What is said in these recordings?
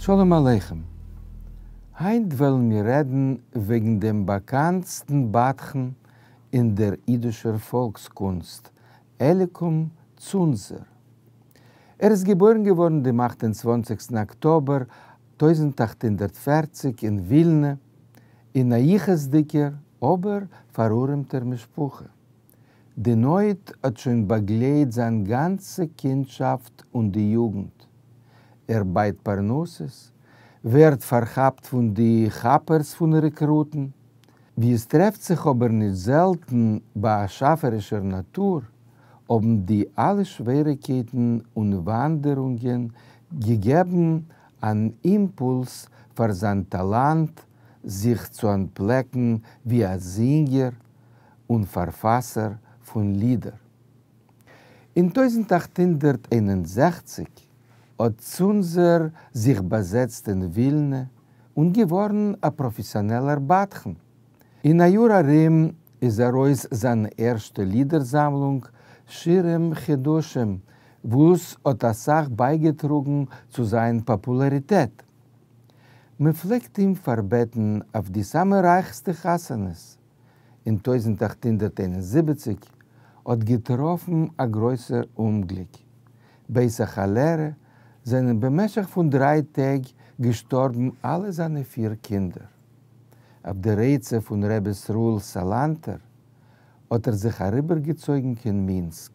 שלום עליכם. היינט וועלן מיר רעדן וועגן דעם באקאנטסטן בדחן אין דער אידישער פאלקס-קונסט, אליקום צונזער. ער איז געבוירן געווארן דעם 28 אקטאבער 1840 אין ווילנע, אין א יחוס'דיגער אבער פארארעמטער משפחה. די נויט האט שוין באגלייט זיין גאנצע קינדשאפט און די יוגנט. ער בייט פרנסות, ווערט פארכאפט פון די כאפערס פון רעקרוטן. ווי עס טרעפט זיך אבער נישט זעלטן ביי א שאפערישער נאטור, האבן די אלע שוועריקייטן און וואנדערונגען געגעבן אן אימפולס פאר זיין טאלאנט זיך צו אנטפלעקן ווי א זינגער און פארפאסער פון לידער. אין 1861 האט צונזער זיך באזעצט אין ווילנע און געווארן א פראפעסיאנעלער בדחן. אין א יאר ארום איז ארויס זיין ערשטע לידער-זאמלונג שירים חדשים, וואס האט אסאך בייגעטראגן צו זיין פאפולאריטעט. מען פלעגט אים פארבעטן אויף די סאמע רייכסטע חתונות. אין 1871 האט געטראפן א גרויסער אומגליק. בעת א כאלערע זענען במשך פון דריי טעג געשטארבן אלע זיינע פיר קינדער. אויף דער עצה פון ר' ישראל סאלאנטער האט ער זיך אריבערגעצויגן קיין מינסק.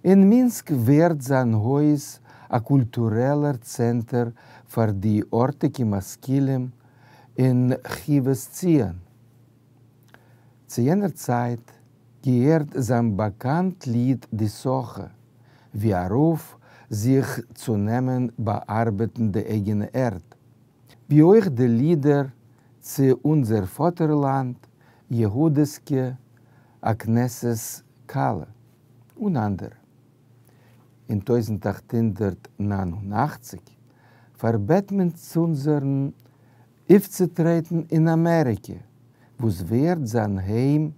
אין מינסק ווערט זיין הויז א קולטורעלער צענטער פאר די ארטיגע משכילים אין חיבת ציון. צו יענער צייט געהערט זיין באקאנט ליד די סאכע, ווי א רוף זיך צו נעמען באארבעטן די אייגענע ערד, ווי אויך די לידער צו אונזער פאטערלאנד, יהודה'סקע, א כנסת כלה, און אנדערע. אין 1889 פארבעט מען צונזערן אויפצוטרעטן אין אמעריקע, וואס ווערט זיין היים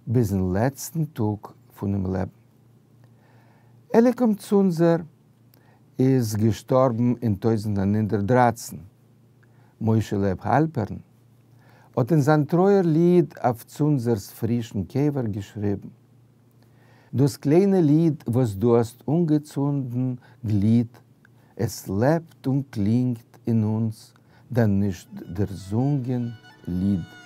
ביזן לעצטן טאג פונעם לעבן. אליקום צונזער איז געשטארבן אין 1913. משה לייב האלפערן האט אין זיין טרויער ליד אויף צונזער'ס פרישן קבר געשריבן, דאס קליינע ליד וואס דו האסט אנגעצונדן גליט, עס לעבט און קלינגט אין אונז דיין נישט דערזונגען ליד.